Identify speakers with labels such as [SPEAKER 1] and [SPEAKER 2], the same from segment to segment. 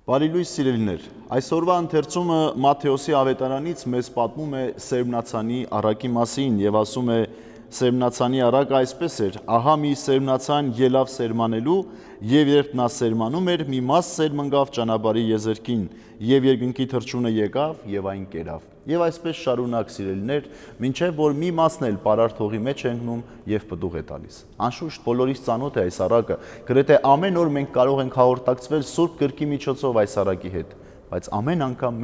[SPEAKER 1] Բարի լույս սիրելիներ, այսօրվա ընթերցումը Մատթեոսի ավետարանից մեզ պատմում է սերմնացանի առակի մասին եւ ասում է սերմնացանի առակը այսպես էր. ահա մի սերմնացան ելավ սերմանելու եւ երբ նա սերմանում էր, մի մաս սերմնգավ ճանապարհի եզերքին եւ երկնքի թռչունը եկավ եւ այն կերավ։ Եվ այսպես շարունակ սիրելիներ, մինչև որ մի մասն էլ պարարտ հողի մեջ է ընկնում եւ պտուղ է տալիս։ Անշուշտ բոլորիս ծանոթ է այս առակը, գրեթե ամեն օր մենք կարող ենք հաղորդակցվել Սուրբ Գրքի միջոցով այս առակի հետ, բայց ամեն անգամ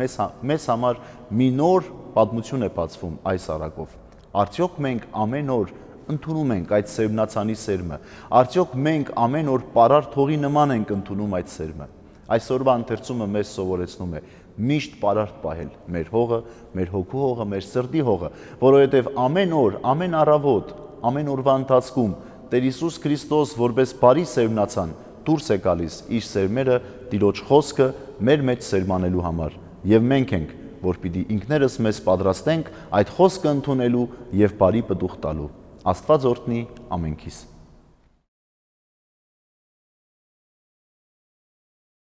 [SPEAKER 1] մեզ համար մի նոր պատմություն է բացվում այս առակով։ Արդյոք մենք ամեն օր ընդունում ենք այդ սերմնացանի սերմը, արդյոք մենք ամեն օր պարարտ հողի նման ենք ընդունում այդ սերմը։ Այսօրվա ընթերցումը մեզ սովորեցնում է միշտ պարարտ պահել մեր հողը, մեր հոգու հողը, մեր սրտի հողը, որովհետև ամեն օր, ամեն առավոտ, ամեն օրվա ընթացքում Տեր Հիսուս Քրիստոս որպես բարի սերմնացան դուրս է գալիս իր սերմերը Տիրոջ խոսքը մեր մեջ սերմանելու համար, եւ մենք ենք, որ պիտի ինքներս մեզ պատրաստենք այդ խոսքը ընդունելու եւ բարի պտուղ տալու։ Աստված օրհնի ամենքիս։